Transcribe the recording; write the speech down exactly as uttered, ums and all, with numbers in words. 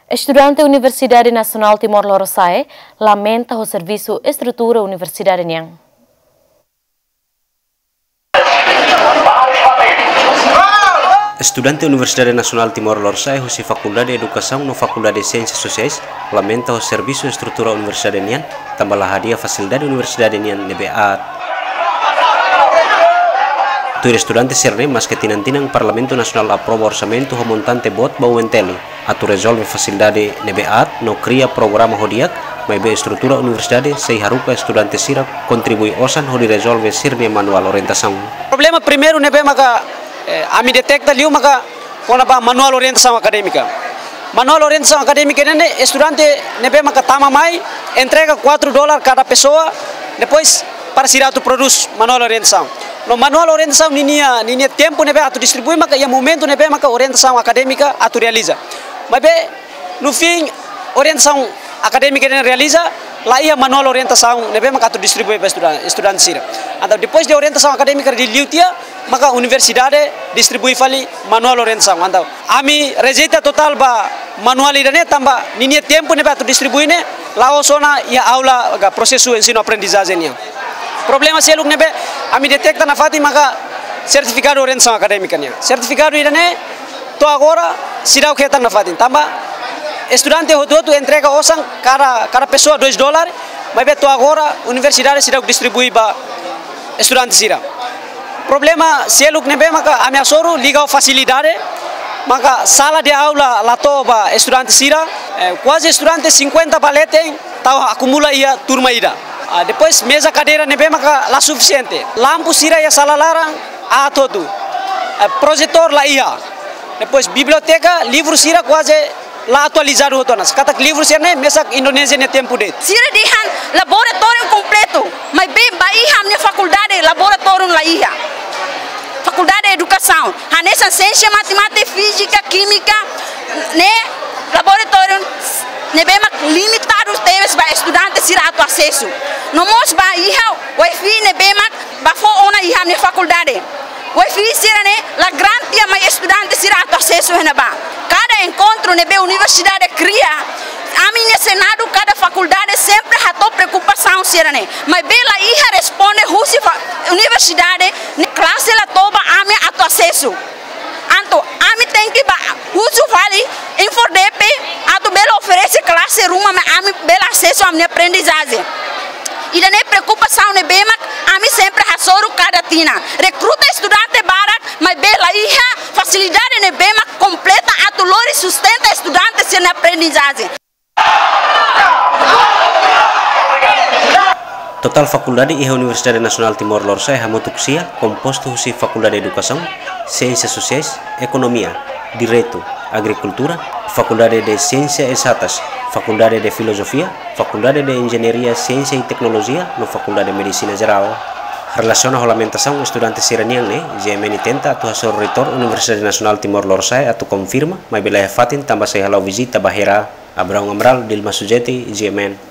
Estudante Universidade Nasionál Timor Lorosa'e lamenta ho servisu estrutura universidade nian. Estudante Universidade Nasionál Timor Lorosa'e husi Fakuldade Edukasaun no Fakuldade Siénsias Sosiais lamenta ho servisu estrutura universidade nian, tanba la hadi'a fasilidade universidade nian ne'ebé aat. Tuir estudante sira-ne'e, maske tinan-tinan Parlamentu Nasionál aprova orsamentu ho montante boot ba U N T L atu rezolve fasilidade ne'ebé aat no kria programa ho di'ak, maibé estrutura universidade sei haruka estudante sira kontribui osan hodi rezolve sira-nia manuál orientasaun. Problema primeiru ne'ebé maka, eh, ami deteta liu maka kona-ba manuál orientasaun akadémika. Manuál orientasaun akadémika ne'e estudante ne'ebé maka tama mai, entrega quatro dólar kada pesoa, depois para sira atu prodús manuál orientasaun. No manuál orientasaun ninia, ninia tempu ne'ebé atu distribui maka iha momentu ne'ebé maka orientasaun akadémika atu realiza. Maibé no fin orientasaun akadémika ne'e realiza, la iha manuál orientasaun ne'ebé maka atu distribui ba estudan-, estudante sira. Entaun depois de orientasaun akadémika di liu tiha, maka universidade distribui fali manuál orientasaun. Entaun ami rejeita totál ba manuál ida-ne'e tanba ninia tempu ne'ebé atu distribui ne'e la'ós ona iha aula ka prosesu ensinu-aprendizajen nian. Problema seluk ne'ebé ami deteta nafatin maka sertifikadu orientasaun akadémika nian. Sertifikadu ida-ne'e to'o agora seidauk hetan nafatin. Tanba estudante hotu-hotu entrega osan kada, kada pesoa dois dólar, maibé to'o agora universidade seidauk distribui ba estudante sira. Problema seluk ne'ebé maka ami hasoru liga ho fasilidade, maka sala de aula la to'o ba estudante sira, eh, kuaze estudante cinquenta ba leten tau akumula iha turma ida. Ah, depois meza kadeira ne'ebé maka la sufisiente. Lampu sira iha sala laran aat hotu. Eh, projetór la iha. Depois biblioteka, livru sira kuaze la atualizadu hotu ona. Katak livru sira-ne'e mesak Indonézia nia tempu de'it. Sira dehan laboratóriu kompletu, maibé ba iha ami-nia fakuldade laboratóriu la iha. Fakuldade Edukasaun, hanesan siénsia, matemátika, fízika, kímika, ne'e laboratóriu ne'ebé mak limitadu tebes ba estudante sira atu asesu. No mós ba iha wifi ne'ebé mak ba fó ona iha ami-nia fakuldade. Wifi sira-ne'e la garantia mai estudante sira atu asesu iha ne'ebá. Kada enkontru ne'ebé universidade kria, ami-nia senadu kada fakuldade sempre hato'o preokupasaun sira-ne'e. Maibé la iha responde husi fa-, universidade ne'e klase la to'o ba ami atu asesu. Entaun ami tenke ba husu fali INFORDEPE atu bele oferese klase ruma mai ami bele asesu ami-nia aprendizajen. Ida-ne'e preokupasaun ne'ebé mak ami sempre hasoru kada tinan. Rekruta estudante barak, maibé la iha fasilidade ne'ebé mak kompleta atu lori sustenta estudante sira-nia aprendizajen. Totál fakuldade iha Universidade Nasionál Timor Lorosa'e hamutuk sia, kompostu husi Fakuldade Edukasaun, Siénsias Sosiais, Ekonomia, Direitu, Agrikultura, Fakuldade de Siénsias Ezatas, Fakuldade de Filozofia, Fakuldade de Enjeñaria, Siénsia i Teknolojia, no Fakuldade Medisina Jerál. Relasiona ho lamentasaun estudante sira-nian ne'e, G M N tenta atu hasoru Reitór Universidade Nasionál Timor Lorosa'e atu konfirma, maibé la iha fatin tanba sei hala'o vizita ba Herá. Abraão Amaral, Dilma Sujeti, G M N.